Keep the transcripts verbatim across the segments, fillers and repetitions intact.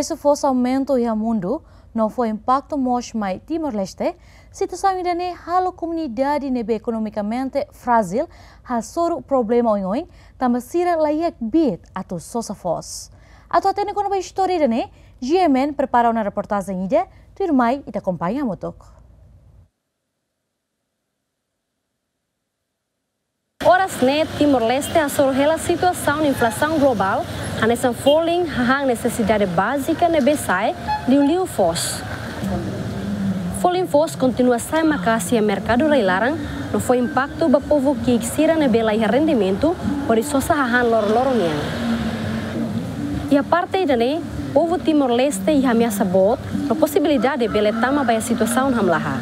Prezú foos aumenta iha mundu, no fó impaktu mós mai Timor-Leste. Situasaun ida-ne'e halo komunidade ne'ebé ekonomikamente frájil hasoru problema oioin, tanba sira laiha kbiit atu sosa foos. Atu hatene kona-ba istória ida-ne'e, G M N prepara ona reportajen ida, tuirmai ita akompaña hamutuk. Oras ne'e Timor-Leste hasoru hela situasaun inflasaun globál, hanesan folin hahán nesesidade bázika ne'ebé sa'e, liuliu foos. Folin foos kontinua sa'e maka'as iha merkadu rai-laran, no fó impaktu ba povu ki'ik sira ne'ebé laiha rendimentu hodi sosa hahán loroloron nian. Iha parte ida-ne'e, povu Timor-Leste iha ameasa boot, no posibilidade bele tama ba iha situasaun hamlaha.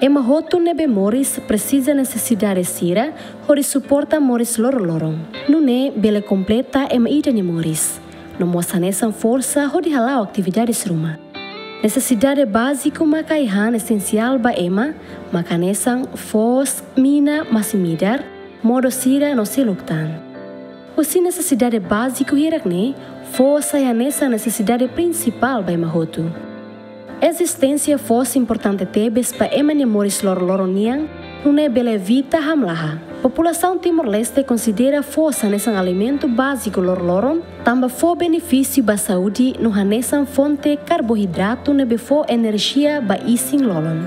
Ema hotu ne'ebé moris presiza nesesidade sira hodi suporta moris loroloron. Nune'e bele kompleta ema ida nia moris, no mós hanesan forsa hodi hala'o atividades ruma. Nesesidade báziku maka ai-han esensiál ba ema, maka hanesan foos, mina, masin-midar, modo sira no seluk tan. Husi nesesidade báziku hirak-ne'e, foos sai hanesan nesesidade prinsipál ba ema hotu. Ezisténsia foos importante tebes ba ema nia moris loroloron nian, nune'e bele evita hamlaha. Populasaun Timor-Leste konsidera foos hanesan alimentu báziku loroloron, tanba fó benefísiu ba saúde no hanesan fonte karboidratu ne'ebé fó enerjia ba isin-lolon.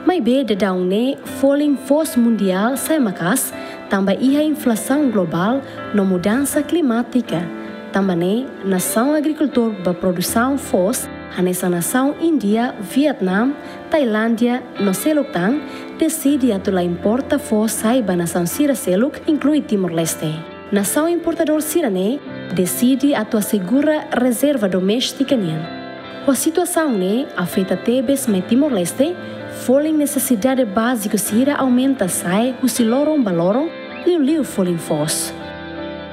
Maibé daudaun ne'e folin foos mundiál sa'e maka'as, tanba iha inflasaun globál no mudansa klimátika. Tanba ne'e, nasaun agrikultór ba produsaun foos, hanesan nasaun Índia, Vietnam, Tailándia, no seluk tan, deside atu la importa foos sai ba nasaun sira seluk, inklui Timor-Leste. Nasaun importadór sira-ne'e deside atu asegura rezerva doméstika nian. Ho situasaun ne'e afeta tebes mai Timor-Leste, folin nesesidade báziku sira aumenta sa'e husi loron ba loron, liuliu folin foos.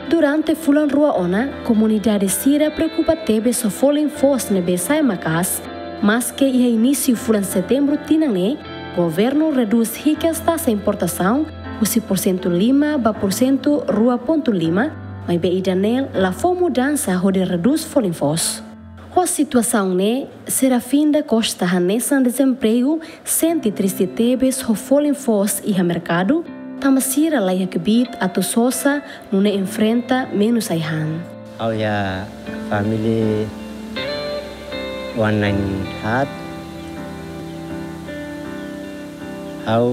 Durante fulan rua ona, komunidade sira preokupa tebes ho folin foos ne'ebé sa'e maka'as, maske iha inísiu fulan Setembru tinan ne'e, governu redús hikas taxa importasaun husi porsentu lima ba porsentu rua pontu lima, maibé ida-ne'e la fó mudansa hodi redús folin foos. Ho situasaun ne'e, Serafim da Costa hanesan dezempregu sente triste tebes ho folin foos iha merkadu, tanba sira laiha kbiit atu sosa, nune'e enfrenta menus ai-han. Ha'u iha família oan-na'in haat. Ha'u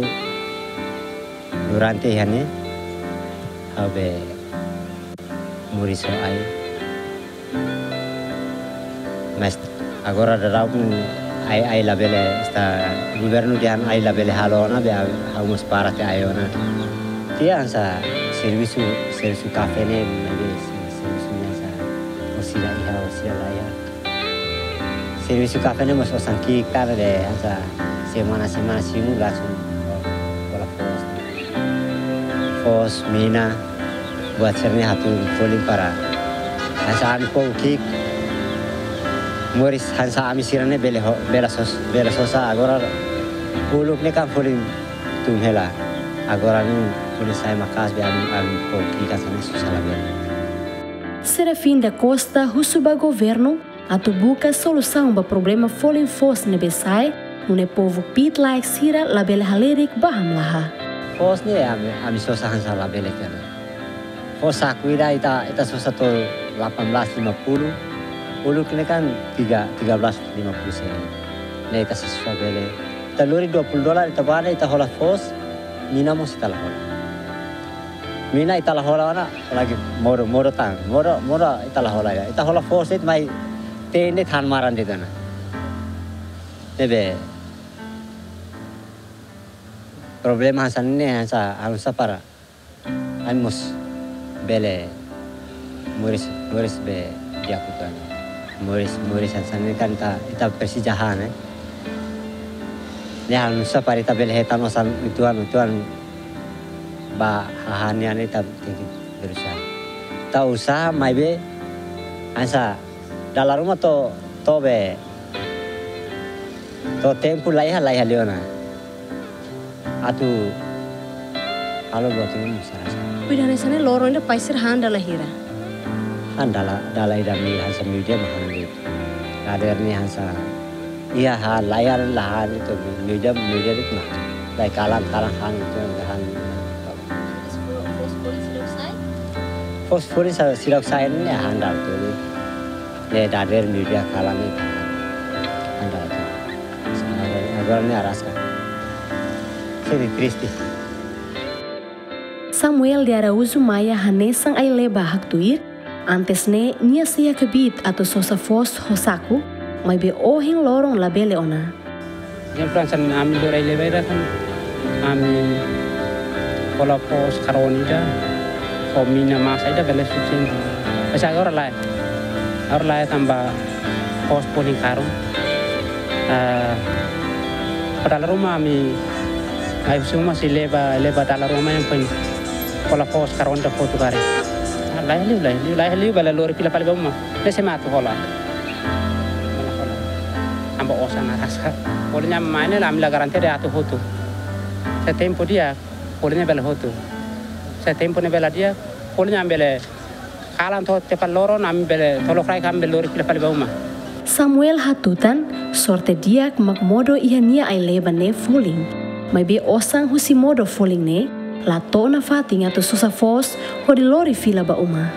durante iha ne'e, ha'u be moris ho ai. Mas agora daudaun ai, ai labele, esta governu dehan ai labele halo ona, be ha'u mós para tiha ai ona. Tiha hanesan servisu, servisu kafé ne'e, ne'ebé servisu ne'e hanesan orsida iha, orsida laiha. Servisu kafé ne'e mós osan ki'ik tan, be hanesan semana, semana simu langsung hola foos. Foos, mina, buat sira-ne'e hatún folin para hanesan ami povu ki'ik moris hanesan ami sira-ne'e bele ho-, bele sos-, bele sosa agora uluk ne'e kan folin tun hela. Agora ne'e folin sa'e maka'as be ami, ami povu ki'ik hanesan ne'e susar labele. Serafim da Costa husu ba governu atu buka solusaun ba problema folin foos ne'ebé sa'e, nune'e povu kbiit-laek sira labele halerik ba hamlaha. Foos ne'e ami, ami sosa hanesan labele kene. Foos saku ida ita, ita sosa to'o delapan belas lima puluh. Uluk ne'e kan tiga, tiga belas lima puluh sen. Ne'e ita sosa bele. Ita lori dua puluh dolar, ita bá ne'e ita hola foos, mina mós ita la hola. Mina ita la hola ona, lagi modo, modo tan, modo, modo ita la hola ya. Ita hola foos de'it mai tende tan maran de'it ona. Ne'ebé problema hanesan ne'e hanesan, hanesan para ami mós bele moris, moris be di'ak uitoan. Moris, moris hanesan ne'e kan ita, ita presiza hahán, eh. Ne'e hanesan para ita bele hetan osan uitoan, uitoan ba hahán nian ita tenke berusaha. Ita usaha maibé hanesan dala ruma to'o, to'o be to'o tempu laiha, laiha liu ona. Atu halo buat ruma mós sala. Cuida hanesan ne'e loron ida pais sira han dala hira? Han dala, dala ida, mi hanesan meiudia mak han de'it. Dadeer ne'e hanesan iha han, laiha la han de'it, meiudia, meiudia de'it mak han. Lai kalan, kalan han de'it, han. Foos folin seidauk sai? Foos folin seidauk sai ne'e han dala tuir. Ne'e dadeer meiudia kalan ne'e han dala tuir. Agora, agora ne'e araska. Sente triste. Samuel de Araújo Maia hanesan ai-leba haktuir, antes ne'e nia sei hakbiit atu sosa foos ho saku, maibé ohin loron labele ona. Ezemplu hanesan ami lori ai-leba ida kan, ami hola foos karone ida, ho mina masa ida bele sufisiente. Mas agora lae. Agora lae tanba foos folin karun. Ah, ho dala ruma ami, ai husi uma sei leba, leba dala ruma yang pen hola foos karone ida hotu karik. Ah, lae liu, lae liu, lae liu bele lori fila fali ba uma. Ne'e sé mak atu hola. Hola, hola. Tanba osan araska. Folin ne'e mai ne'e ami la garante de'it atu hotu. Se tempu di'ak, folin ne'e bele hotu. Se tempu ne'ebé la di'ak, folin ne'e ami bele kalan to'o tiha ba loron, ami bele to'o lokraik ami bele lori fila fali ba uma. Samuel hatutan, sorte di'ak mak modo iha nia ai-leba ne'e folin. Maibé osan husi modo folin ne'e, la to'o nafatin atu sosa foos hodi lori fila ba uma.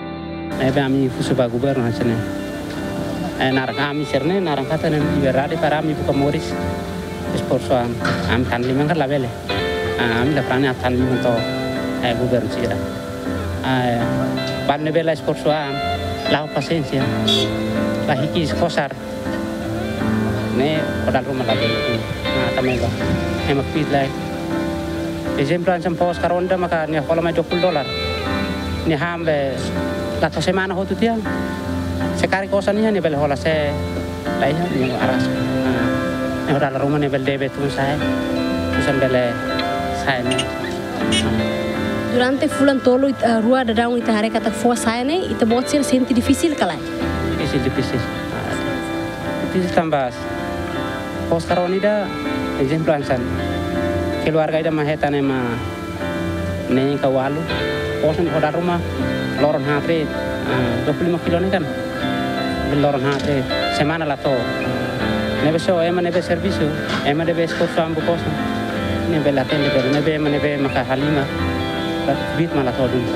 Ne'ebé ami husu ba governu hanesan ne'e. Eh, naran ami sira-ne'e, naran katak ne'e liberdade para ami buka moris. Esforsu ami, ami tan liman kan labele. Ah, ami la prani atu tan liman to'o, eh, governu sira. Ah, balu ne'ebé la esforsu an, la'o pasiénsia. La hiki kosar. Ne'e ho dala ruma labele. Ah, tanba ne'e ba. Ema kbiit lai. Ezemplu hanesan foos karone ida maka nia hola mai dua puluh dolar. Nia han be la to'o semana hotu tiha. Se karik osan iha nia bele hola, se laiha nia araska. Ah, ne'e ho dala ruma ne'e bele debe tun sa'e. Osan bele sa'e ne'e. Durante fulan tolu it-, eh, rua daudaun ita haree katak foos sa'e ne'e, ita-boot sira sente difisil ka lae? Difisil, difisil. Ah, difisil tanba foos karone ida, ezemplu hanesan. Keluarga ida mak hetan ema neen ka ualu, foos ne'e ho dala ruma, loron haat de'it, ah, dua puluh lima kilo ne'e kan. Loron haat de'it, semana la to'o. Ne'ebé só ema ne'ebé servisu, ema ne'ebé esforsu an buka osan. Ne'ebé la atende bele, ne'ebé ema ne'ebé maka halimar, la kbiit mak la to'o duni.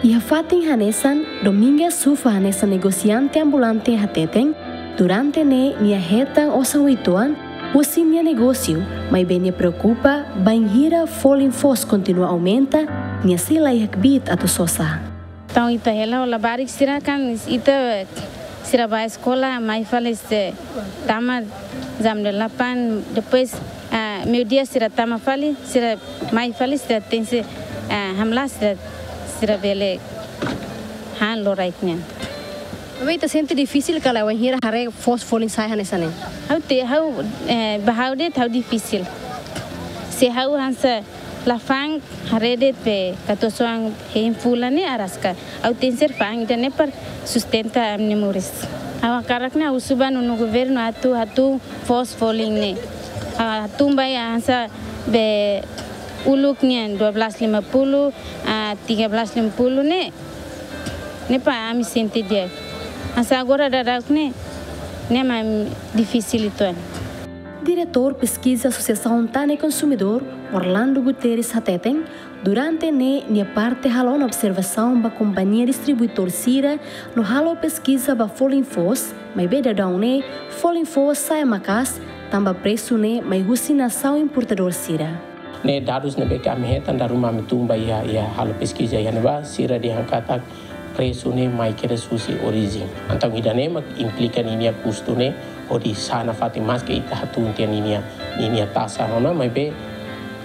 Iha fatin hanesan, Domingas Sufa hanesan negosiante ambulante hateten, durante ne'e nia hetan osan uitoan husi nia negósiu, maibé nia preokupa bainhira folin foos kontinua aumenta, nia sei laiha kbiit atu sosa. Entaun ita hela ho labarik sira kan, ita sira bá eskola, mai fali sira tama jam delapan, depois, ah, meiudia sira tama fali, sira mai fali, sira tenke, ah, hamlaha sira, sira bele han loraik nian. Maibé ita sente difisil ka lae wainhira haree foos folin sa'e hanesan ne'e? Ha'u te, ha'u, eh, ba ha'u de'it ha'u difisil. Se ha'u hanesan la fa'an haree de'it be katuas-oan hein fulan ne'e araska. Ha'u tenke fa'an ida-ne'e para sustenta ami-nia moris. Ha'u hakarak ne'e ha'u husu ba nonu governu atu hatún foos folin ne'e. Ah, hatún ba iha hanesan be uluk nian dua belas lima puluh, ah, tiga belas lima puluh ne'e. Ne'e para ami sente di'ak. Hanesan agora daudauk ne'e, ne'e mak difisil uitoan. Diretór Peskiza Asosiasaun Tan no Konsumidór, Orlando Guterres hateten, durante ne'e nia parte halo ona observasaun ba kompañia distribuidór sira no halo peskiza ba folin foos, maibé daudaun ne'e folin foos sa'e maka'as, tanba presu ne'e mai husi nasaun importadór sira. Ne'e dadus ne'ebé ke ami hetan, dala ruma ami tun ba iha, iha halo peskiza iha ne'ebá, sira dehan katak presu ne'e mai kedas husi orijen. Entaun ida-ne'e mak implika ninia kustu ne'e hodi sa'e nafatin, maske ita hatún tiha ninia, ninia taxa ona, maibé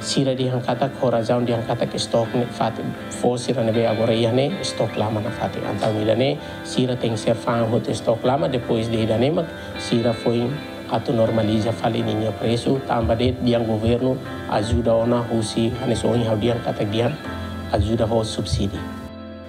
sira dehan katak ho razaun dehan katak estok ne'e fatin, foos sira ne'ebé agora iha ne'e estok lama nafatin. Entaun ida-ne'e sira tenke fa'an hotu estok lama, depois de ida-ne'e mak sira foin atu normaliza fali ninia presu, tanba de'it dehan governu ajuda ona husi, hanesan ohin ha'u dehan katak dehan ajuda ho subsídiu.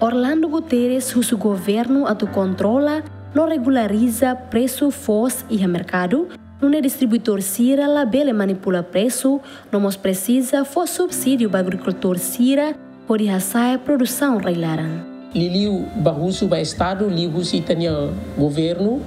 Orlando Guterres husu governu atu kontrola no regulariza presu foos iha merkadu, nune'e distribuidór sira labele manipula presu, no mós presiza fó subsídiu ba agrikultór sira, hodi hasa'e produsaun rai-laran. Liuliu ba husu ba Estadu, liuhusi ita-nia governu,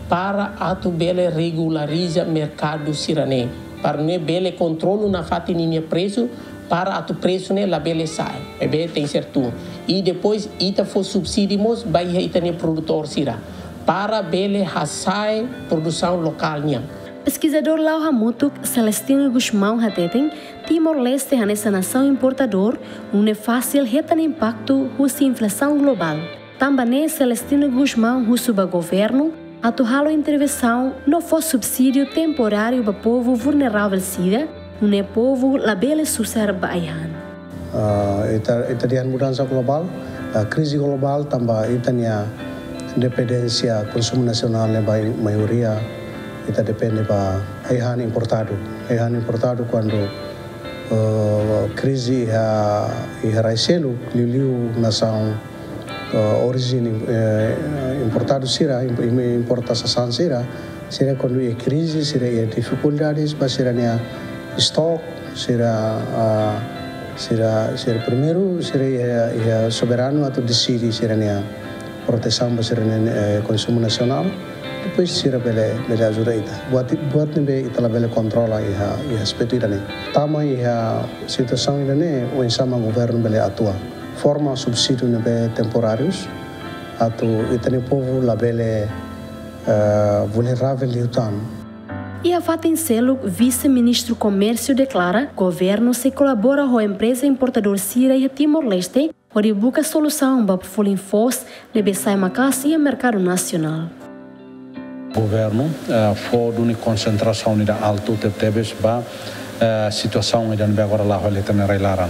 para atu bele regulariza merkadu sira-ne'e, para nune'e bele kontrolu nafatin ninia presu, para atu presu ne'e labele sa'e, ne'ebé tenke ser tun. I depois ita fó subsídiu mós ba iha ita-nia produtór sira, para bele hasa'e produsaun lokál nian. Peskizadór La'o Hamutuk, Celestino Gusmão, hateten, Timor-Leste hanesan nasaun importadór, nune'e fasil hetan impaktu husi inflasaun globál. Tanba ne'e Celestino Gusmão husu ba governu atu halo intervensaun no fó subsídiu temporáriu ba povu vulneravel sira, nune'e povu labele susar ba ai-han. Ah, ita, ita dehan mudansa globál, ah, krize globál tanba ita-nia dependénsia konsumu nasionál ne'e ba maioria ita depende ba ai-han importadu. Ai-han importadu kuandu, eh, krize iha, iha rai seluk, liuliu nasaun, eh, orijen, eh, importadu sira, im-, im-, importa sasán sira, sira kuandu iha krize, sira iha difikuldades ba sira-nia estok, sira, ah, sira, sira primeiru, sira iha, iha soberanu atu deside sira-nia protesaun ba sira-nia, eh, konsumu nasionál. Depois sira bele, bele ajuda ita. Buat, buat ne'ebé ita labele kontrola iha, iha aspetu ida-ne'e. Tama iha situasaun ida-ne'e, oinsá mak governu bele atua. Forma subsídiu ne'ebé temporárius, atu ita-nia povu labele, eh, vulneravel liután. Iha fatin seluk, Vise-Ministru Komérsiu deklara, governu sei kolabora ho empreza importadór sira iha Timor-Leste, hodi buka solusaun ba folin foos ne'ebé sa'e maka'as iha merkadu nasionál. Governu, eh, fó duni konsentrasaun ida altu tebetebes ba, eh, situasaun ida ne'ebé agora la'o hela iha ita-nia rai-laran.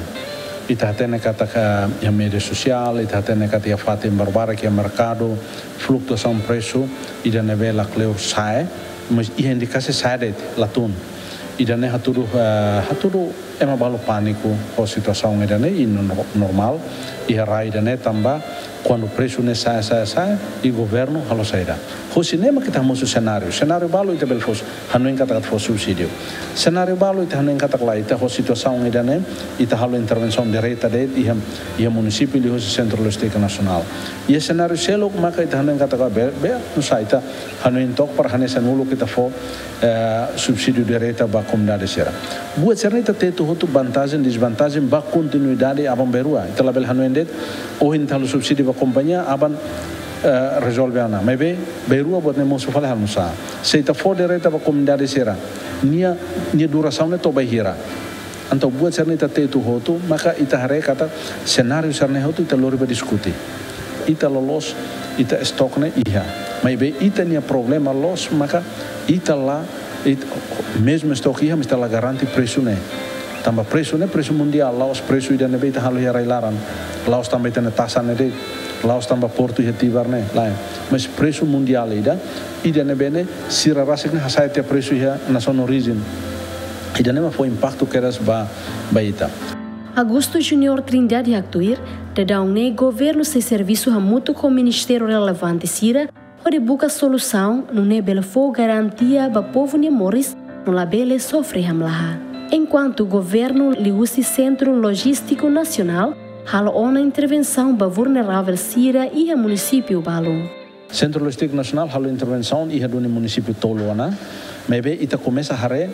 Ita hatene katak, eh, iha média sosiál, ita hatene katak iha fatin barbarak iha merkadu, flutuasaun presu ida ne'ebé lakleur sa'e, mas iha indikasi sa'e de'it, la tun. Ida-ne'e hatudu, eh, hatudu ema balu pániku ho situasaun ida-ne'e, i no-, normál, iha rai ida-ne'e tanba kuandu presu ne'e sa'e, sa'e, sa'e, i governu halo saida. Husi ne'e mak ita hamosu senáriu. Senáriu balu ita bele fó, hanoin katak atu fó subsídiu. Senáriu balu ita hanoin katak lae, ita ho situasaun ida-ne'e, ita halo intervensaun direta de'it iha, iha munisípiu liuhusi Sentru Lojístiku Nasionál. Iha senáriu seluk maka ita hanoin katak be, be, nusá ita hanoin took para hanesan uluk ita fó, eh, subsídiu direta ba komunidade sira. Buat sira-ne'e ita tetu hotu vantajen, dezvantajen ba kontinuidade aban-bainrua. Ita labele hanoin de'it, ohin ita halo subsídiu ba kompañia, aban, eh, rezolve ona. Maibé, bainrua buat ne'e mosu fali halo nusá. Se ita fó direta ba komunidade sira, nia, nia durasaun ne'e to'o ba hira. Entaun buat sira-ne'e ita tetu hotu, maka ita haree katak senáriu sira-ne'e hotu ita lori ba diskute. Ita loloos, ita estok ne'e iha. Maibé ita-nia problema loos, maka ita la, it-, mezmu estok iha, mas ita la garante presu ne'e. Tanba presu ne'e, presu mundiál, la'ós presu ida ne'ebé ita halo iha rai-laran. La'ós tanba ita-nia taxa ne'e de'it, la'ós tanba portu iha Tibar ne'e, lae. Mas presu mundiál ida, ida ne'ebé ne'e, sira rasik ne'e hasa'e tiha presu iha nasaun orijen. Ida-ne'e mak fó impaktu kedas ba, ba ita. Augusto Júnior Trindade haktuir, daudaun ne'e governu sei servisu hamutuk ho ministériu relevante sira, hodi buka solusaun, nune'e bele fó garantia ba povu nia moris, no labele sofre hamlaha. Enkuantu governu liuhusi Sentru Lojístiku Nasionál, halo ona intervensaun ba vulneravel sira iha munisípiu balu. Sentru Lojístiku Nasionál halo intervensaun iha duni munisípiu tolu ona, maibé ita komesa haree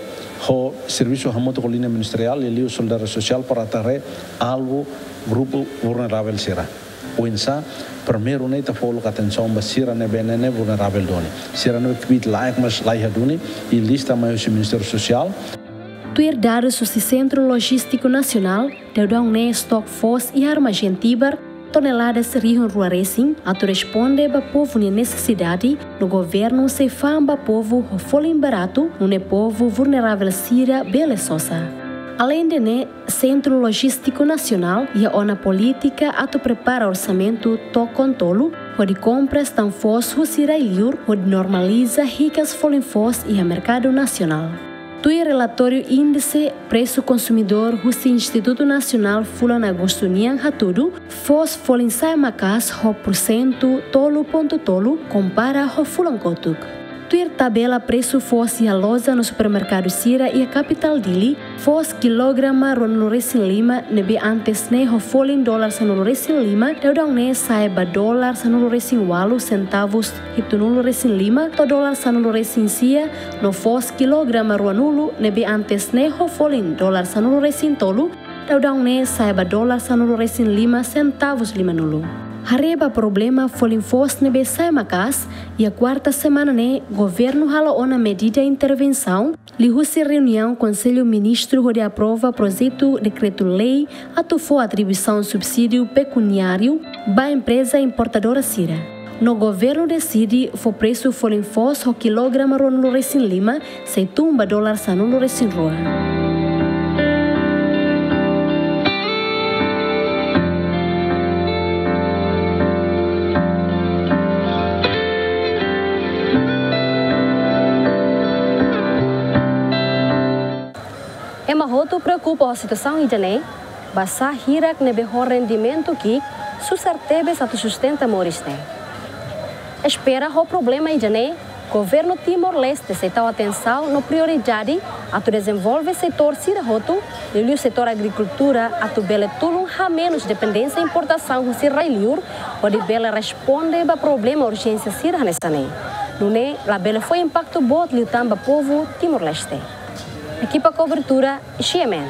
ho servisu hamutuk ho liña ministeriál, liuliu Solidariedade Sosiál para atu haree alvu grupu vulneravel sira. Oinsá, primeiru ne'e ita fó uluk atensaun ba sira ne'ebé ne'e vulneravel duni. Sira ne'ebé kbiit-laek mas la iha duni, i lista mai husi Ministériu Sosiál. Tuir dadus husi Sentru Lojístiku Nasionál, daudaun ne'e estok foos iha armazén Tibar, toneladas rihun rua resin, atu responde ba povu nia nesesidade, no governu sei fa'an ba povu ho folin baratu, nune'e povu vulneravel sira bele sosa. Aleinde ne'e, Sentru Lojístiku Nasionál iha ona polítika atu prepara orsamentu to'o kon tolu, hodi kompra tan foos husi rai-liur, hodi normaliza hikas folin foos iha merkadu nasionál. Tuir relatóriu índise presu konsumidór husi Institutu Nasionál fulan Agostu nian hatudu, foos folin sa'e maka'as ho porsentu tolu pontu tolu kompara ho fulan kotuk. Tuir tabela presu foos iha loja no supermerkadu sira iha kapitál Dili, foos kilograma ruanulu resin lima ne'ebé antes ne'e ho folin dolar sanulu resin lima, daudaun ne'e sa'e ba dolar sanulu resin ualu sentavus hitunulu resin lima to'o dolar sanulu resin sia, no foos kilograma ruanulu ne'ebé antes ne'e ho folin dolar sanulu resin tolu, daudaun ne'e sa'e ba dolar sanulu resin lima sentavus limanulu. Haree ba problema folin foos ne'ebé sa'e maka'as, iha kuarta semana ne'e governu hala'o ona medida intervensaun, liuhusi reuniaun Konsellu Ministru hodi aprova projetu dekretu-lei atu fó atribuisaun subsídiu pekuniáriu ba empreza importadora sira. No governu deside fó presu folin foos ho kilograma ruanulu resin lima, sei tun ba dolar sanulu resin rua. Ema hotu preokupa ho situasaun ida-ne'e, basá hirak ne'ebé ho rendimentu ki'ik susar tebes atu sustenta moris ne'e. Espera ho problema ida-ne'e, governu Timor-Leste sei tau atensaun no prioridade atu dezenvolve setór sira hotu, liuliu setór agrikultura, atu bele tulun hamenus dependénsia importasaun husi rai-liur, hodi bele responde ba problema urjénsia sira hanesan ne'e. Nune'e labele fó impaktu boot liután ba povu Timor-Leste. Ekipa kobertura, G M N.